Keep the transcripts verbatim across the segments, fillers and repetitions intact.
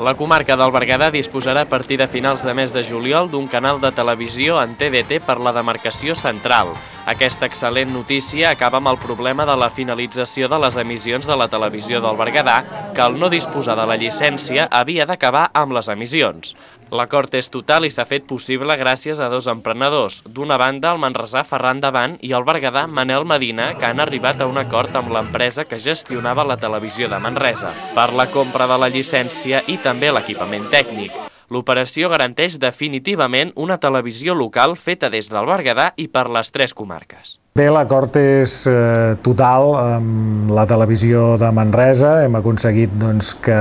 La comarca del Berguedà disposarà a partir de finals de mes de juliol d'un canal de televisió en T D T per la demarcació central. Aquesta excel·lent notícia acaba amb el problema de la finalització de les emissions de la televisió del Berguedà, que al no disposar de la llicència havia d'acabar amb les emissions. L'acord és total i s'ha fet possible gràcies a dos emprenedors. D'una banda, el manresà Ferran Davant i el berguedà Manel Medina, que han arribat a un acord amb l'empresa que gestionava la televisió de Manresa per la compra de la llicència i també l'equipament tècnic. L'operació garanteix definitivament una televisió local feta des del Berguedà i per les tres comarques. Bé, l'acord és eh, total amb la televisió de Manresa. Hem aconseguit doncs, que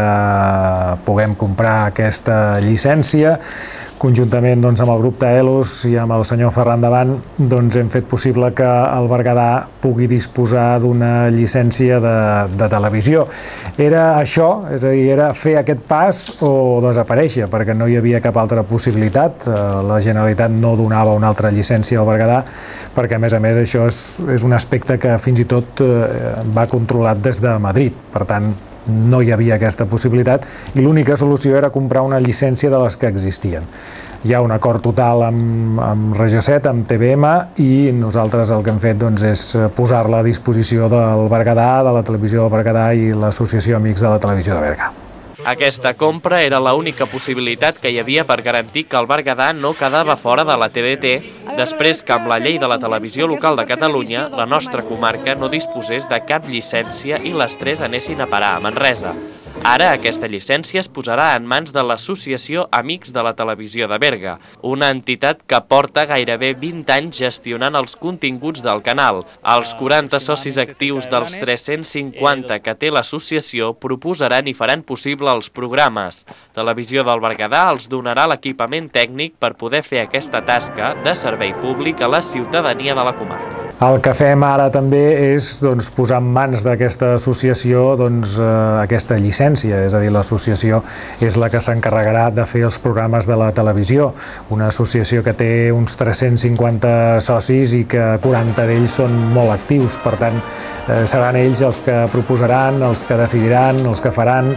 puguem comprar aquesta llicència. Conjuntament doncs, amb el grup Taelos i amb el senyor Ferran Davant doncs, hem fet possible que el Berguedà pugui disposar d'una llicència de, de televisió. Era això, és a dir, era fer aquest pas o desaparèixer, perquè no hi havia cap altra possibilitat. La Generalitat no donava una altra llicència al Berguedà, perquè a més a més això és, és un aspecte que fins i tot eh, va controlat des de Madrid. Per tant, no hi havia aquesta possibilitat i l'única solució era comprar una llicència de les que existien. Hi ha un acord total amb, amb Regió set, amb T V M, i nosaltres el que hem fet doncs, és posar-la a disposició del Berguedà, de la televisió del Berguedà i l'Associació Amics de la Televisió de Berga. Aquesta compra era l'única possibilitat que hi havia per garantir que el Berguedà no quedava fora de la T D T, després que amb la llei de la televisió local de Catalunya la nostra comarca no disposés de cap llicència i les tres anessin a parar a Manresa. Ara aquesta llicència es posarà en mans de l'Associació Amics de la Televisió de Berga, una entitat que porta gairebé vint anys gestionant els continguts del canal. Els quaranta socis actius dels tres-cents cinquanta que té l'associació proposaran i faran possible els programes. Televisió del Berguedà els donarà l'equipament tècnic per poder fer aquesta tasca de servei públic a la ciutadania de la comarca. El que fem ara també és doncs, posar en mans d'aquesta associació doncs, eh, aquesta llicència, és a dir, l'associació és la que s'encarregarà de fer els programes de la televisió. Una associació que té uns tres-cents cinquanta socis i que quaranta d'ells són molt actius, per tant, eh, seran ells els que proposaran, els que decidiran, els que faran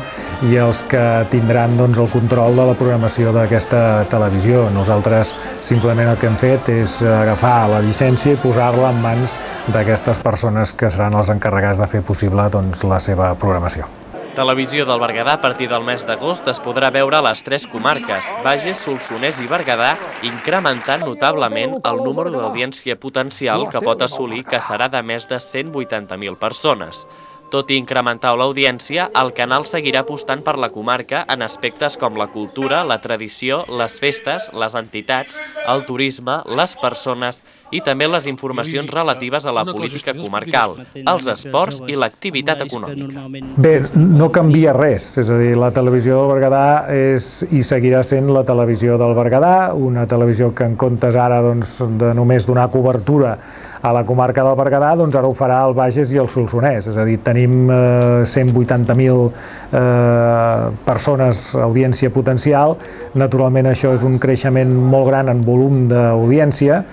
i els que tindran doncs, el control de la programació d'aquesta televisió. Nosaltres simplement el que hem fet és agafar la llicència i posar-la en mans d'aquestes persones que seran els encarregats de fer possible doncs, la seva programació. Televisió del Berguedà a partir del mes d'agost es podrà veure a les tres comarques, Bages, Solsonès i Berguedà, incrementant notablement el número d'audiència potencial que pot assolir, que serà de més de cent vuitanta mil persones. Tot i incrementar l'audiència, el canal seguirà apostant per la comarca en aspectes com la cultura, la tradició, les festes, les entitats, el turisme, les persones i també les informacions relatives a la política comarcal, els esports i l'activitat econòmica. Bé, no canvia res, és a dir, la televisió del Berguedà és i seguirà sent la televisió del Berguedà, una televisió que en comptes ara doncs, de només donar cobertura a la comarca del Berguedà, doncs ara ho farà el Bages i el Solsonès, és a dir, tenim eh, cent vuitanta mil eh, persones, audiència potencial. Naturalment això és un creixement molt gran en volum d'audiència,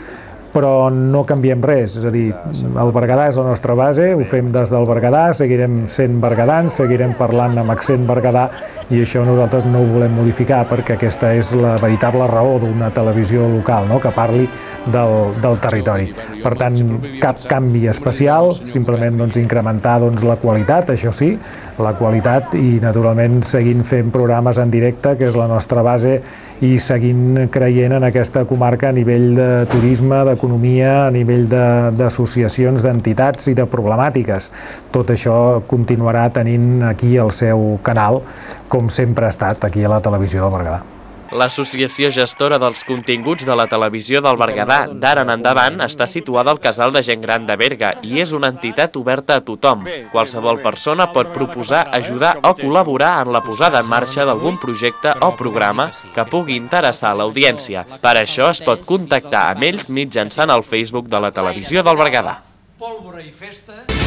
però no canviem res, és a dir, el Berguedà és la nostra base, ho fem des del Berguedà, seguirem sent berguedans, seguirem parlant amb accent berguedà i això nosaltres no ho volem modificar perquè aquesta és la veritable raó d'una televisió local, no? Que parli del, del territori. Per tant, cap canvi especial, simplement doncs, incrementar doncs, la qualitat, això sí, la qualitat i naturalment seguint fent programes en directe, que és la nostra base, i seguint creient en aquesta comarca a nivell de turisme, d'economia, a nivell d'associacions, d'entitats i de problemàtiques. Tot això continuarà tenint aquí el seu canal, com sempre ha estat aquí a la televisió del Berguedà. L'associació gestora dels continguts de la televisió del Berguedà d'ara en endavant està situada al Casal de Gent Gran de Berga i és una entitat oberta a tothom. Qualsevol persona pot proposar, ajudar o col·laborar en la posada en marxa d'algun projecte o programa que pugui interessar a l'audiència. Per això es pot contactar amb ells mitjançant el Facebook de la televisió del Berguedà. Pólvora i festa...